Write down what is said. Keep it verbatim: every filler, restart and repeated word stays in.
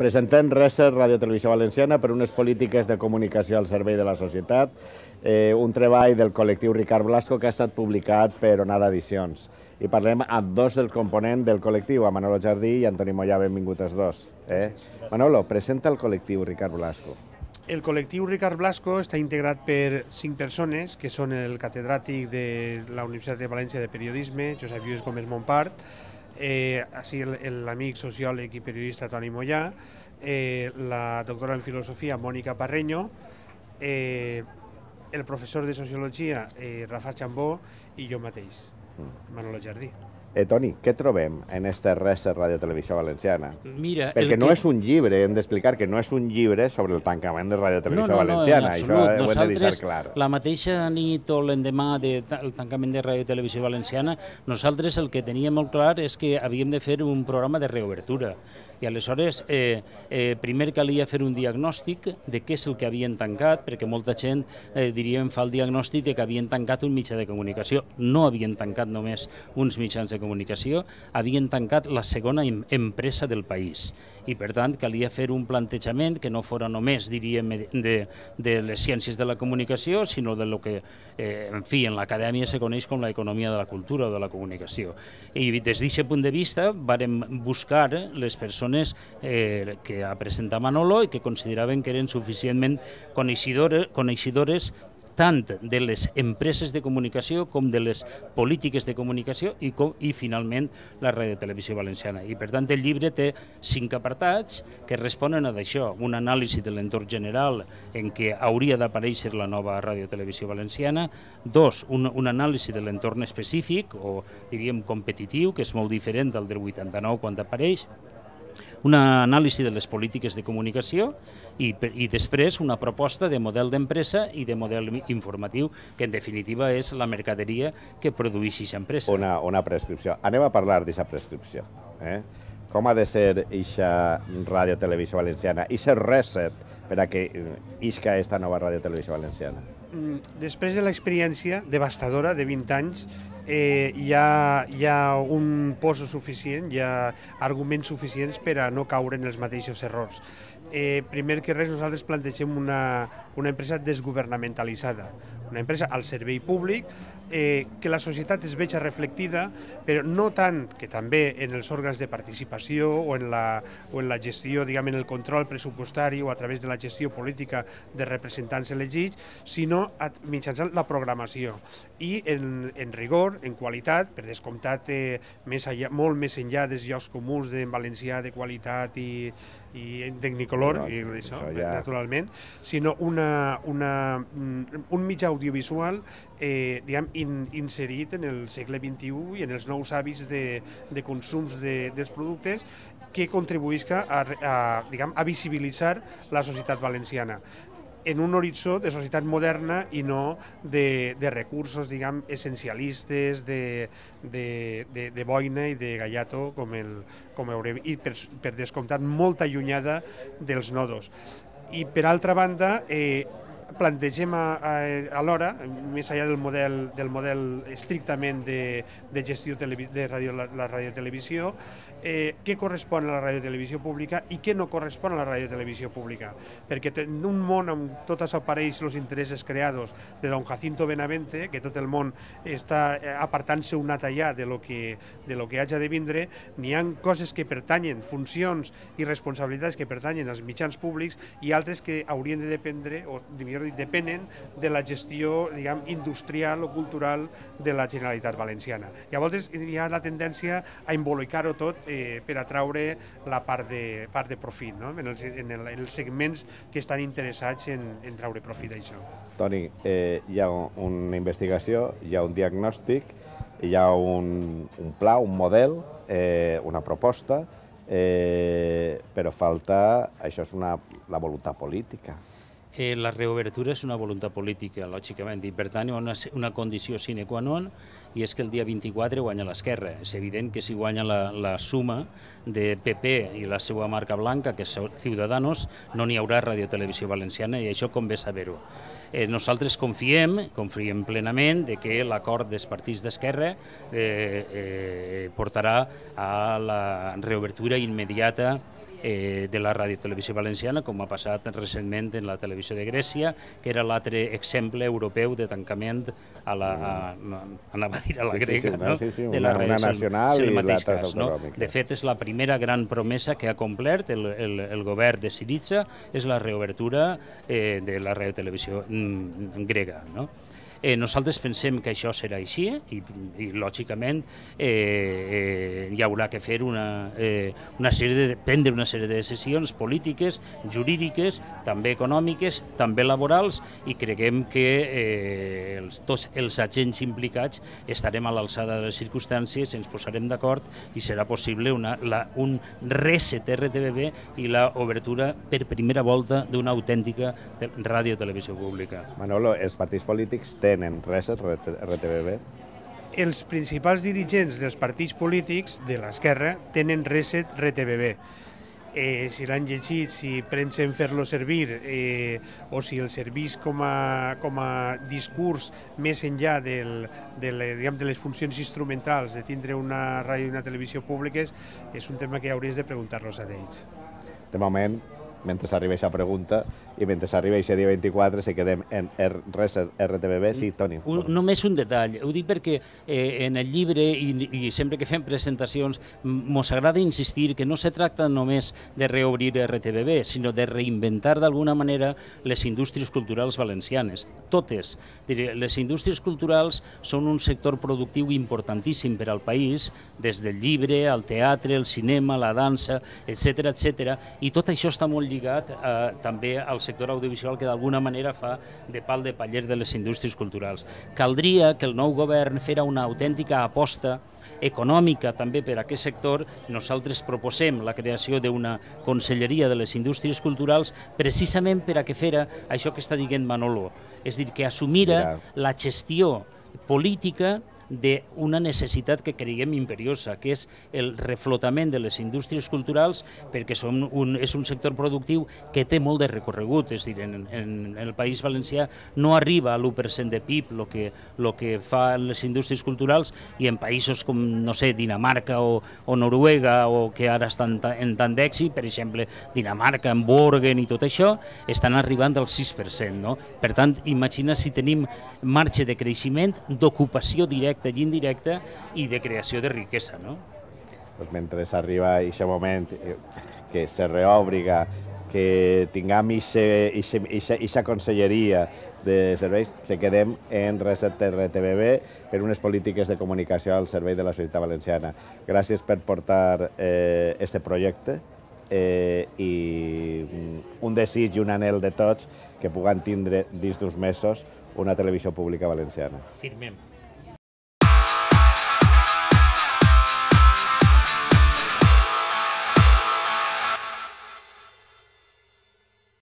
Presentem Reset, Ràdio Televisió Valenciana, per unes polítiques de comunicació al servei de la societat, eh, un treball del col·lectiu Ricard Blasco que ha estat publicat per Onada Edicions. I parlem amb dos dels components del col·lectiu, a Manolo Jardí i Antoni Mollà, benvinguts els dos. Eh? Manolo, presenta el col·lectiu Ricard Blasco. El col·lectiu Ricard Blasco està integrat per cinc persones, que són el catedràtic de la Universitat de València de Periodisme, Josep Lluís Gómez Montpart, eh, així l'amic sociòleg i periodista Toni Mollà, eh, la doctora en filosofia Mònica Parreño, eh, el professor de sociologia eh, Rafa Chambó i jo mateix, Manolo Jardí. Eh, Toni, què trobem en este Reset Ràdio Televisió Valenciana? Mira, Perquè no que... és un llibre, hem d'explicar que no és un llibre sobre el tancament de Ràdio Televisió no, no, Valenciana, no, això ho hem de deixar nosaltres, clar. La mateixa nit o l'endemà del tancament de Ràdio Televisió Valenciana, nosaltres el que teníem molt clar és que havíem de fer un programa de reobertura. I aleshores, eh, eh, primer calia fer un diagnòstic de què és el que havien tancat, perquè molta gent, eh, diríem, fa el diagnòstic de que havien tancat un mitjà de comunicació. No havien tancat només uns mitjans de comunicació, havien tancat la segona empresa del país. I, per tant, calia fer un plantejament que no fora només, diríem, de, de les ciències de la comunicació, sinó de lo que, eh, en fi, en l'acadèmia se coneix com l'economia de la cultura o de la comunicació. I des d'aquest punt de vista, vàrem buscar les persones Eh, que ha presentat Manolo i que consideraven que eren suficientment coneixedores, coneixedores tant de les empreses de comunicació com de les polítiques de comunicació i, com, i finalment, la Ràdio Televisió Valenciana. I, per tant, el llibre té cinc apartats que responen a d'això, un anàlisi de l'entorn general en què hauria d'aparèixer la nova Ràdio Televisió Valenciana, dos, un, un anàlisi de l'entorn específic, o diríem competitiu, que és molt diferent del del vuitanta-nou quan apareix, una anàlisi de les polítiques de comunicació i, i després una proposta de model d'empresa i de model informatiu, que en definitiva és la mercaderia que produeix aquesta empresa. Una, una prescripció. Anem a parlar d'aquesta prescripció. Eh? Com ha de ser aquesta Ràdio Televisió Valenciana, aquest reset per a que isca esta nova Ràdio Televisió Valenciana? Després de l'experiència devastadora de vint anys, Eh, hi, ha, hi ha un poso suficient, hi ha arguments suficients per a no caure en els mateixos errors. Eh, primer que res, nosaltres plantegem una, una empresa desgovernamentalitzada, una empresa al servei públic, eh, que la societat es veja reflectida, però no tant que també en els òrgans de participació o en la, o en la gestió, diguem, en el control pressupostari o a través de la gestió política de representants elegits, sinó a, mitjançant la programació i en, en rigor, en qualitat, per descomptat, eh, més allà, molt més enllà dels llocs comuns en valencià de qualitat i, i en tecnicolor, no, i això, això ja... naturalment, sinó una, una, un mitjà audiovisual eh, diguem, in, inserit en el segle vint-i-u i en els nous hàbits de, de consums de, dels productes que contribuïsca a, a, diguem, a visibilitzar la societat valenciana en un horitzó de societat moderna i no de, de recursos, diguem, essencialistes, de, de, de, de boina i de gallato, com, el, com haurem, i per, per descomptat molt allunyada dels nodos. I per altra banda, eh, plantegem alhora, més enllà del model, del model estrictament de, de gestió de radio, la, la radiotelevisió, eh, què correspon a la radiotelevisió pública i què no correspon a la radiotelevisió pública. Perquè en un món on tot això apareix els interessos creados de don Jacinto Benavente, que tot el món està apartant-se un nat allà de lo que, de lo que haja de vindre, n'hi ha coses que pertanyen, funcions i responsabilitats que pertanyen als mitjans públics i altres que haurien de dependre, o millor dit, depenen de la gestió, diguem, industrial o cultural de la Generalitat Valenciana. Llavors hi ha la tendència a embolicar-ho tot eh, per atraure la part de, part de profit, no? en, els, en, el, en els segments que estan interessats en, en traure profit d'això. Toni, eh, hi ha una investigació, hi ha un diagnòstic, hi ha un, un pla, un model, eh, una proposta, eh, però falta, això és una, la voluntat política. Eh, la reobertura és una voluntat política, lògicament, i per tant hi ha una, una condició sine qua non, i és que el dia vint-i-quatre guanya l'esquerra. És evident que si guanya la, la suma de P P i la seva marca blanca, que és Ciudadanos, no n'hi haurà Radiotelevisió Valenciana, i això convé saber-ho. Eh, nosaltres confiem, confiem plenament de que l'acord dels partits d'esquerra eh, eh, portarà a la reobertura immediata eh, de la radiotelevisió valenciana, com ha passat recentment en la televisió de Grècia, que era l'altre exemple europeu de tancament a la, a, anava a dir a la Sí, sí, grega, sí, no? sí, sí, de una- la una res- nacional és el i mateix l'altra és cas, no? autonòmica. De fet, és la primera gran promesa que ha complert el, el, el govern de Syriza, és la reobertura eh, de la radiotelevisió mm, grega, no? Eh, nosaltres pensem que això serà així i, i lògicament, eh, eh, hi haurà que fer una, eh, una sèrie de, prendre una sèrie de decisions polítiques, jurídiques, també econòmiques, també laborals, i creguem que eh, els, tots els agents implicats estarem a l'alçada de les circumstàncies, ens posarem d'acord i serà possible una, la, un reset R T V B i l'obertura per primera volta d'una autèntica ràdio-televisió pública. Manolo, els partits polítics tenen reset R T V B? Els principals dirigents dels partits polítics de l'esquerra tenen reset R T V B. Eh, si l'han llegit, si pensen fer-lo servir eh, o si el servís com a, com a discurs més enllà del, de, le, diguem, de les funcions instrumentals de tindre una ràdio i una televisió públiques, és un tema que hauries de preguntar-los a ells. De moment, mentre s'arriba aquesta pregunta i mentre s'arriba aquest dia vint-i-quatre se quedem en reset R T V B. Sí, Toni. Un, només un detall, ho dic perquè eh, en el llibre i, i sempre que fem presentacions mos agrada insistir que no se tracta només de reobrir R T V B, sinó de reinventar d'alguna manera les indústries culturals valencianes, totes. Les indústries culturals són un sector productiu importantíssim per al país, des del llibre, al teatre, el cinema, la dansa, etcètera, etcètera, i tot això està molt lligat eh, també al sector audiovisual, que d'alguna manera fa de pal de paller de les indústries culturals. Caldria que el nou govern fera una autèntica aposta econòmica també per a aquest sector. Nosaltres proposem la creació d'una conselleria de les indústries culturals precisament per a que fera això que està dient Manolo, és a dir, que assumira la gestió política d'una necessitat que creiem imperiosa, que és el reflotament de les indústries culturals, perquè som un, és un sector productiu que té molt de recorregut, és a dir, en, en el País Valencià no arriba a l'u per cent de P I B el que, lo que fan les indústries culturals, i en països com, no sé, Dinamarca o, o Noruega, o que ara estan en tant d'èxit, per exemple, Dinamarca, en Borgen i tot això, estan arribant al sis per cent, no? Per tant, imagina si tenim marge de creixement, d'ocupació directa i indirecta i de creació de riquesa, no? Pues mentre arriba aquest moment que se reòbriga, que tinguem aquesta conselleria de serveis, se quedem en reset R T V B per unes polítiques de comunicació al servei de la societat valenciana. Gràcies per portar eh, este projecte eh, i un desig i un anhel de tots que puguem tindre dins d'uns mesos una televisió pública valenciana. Firmem.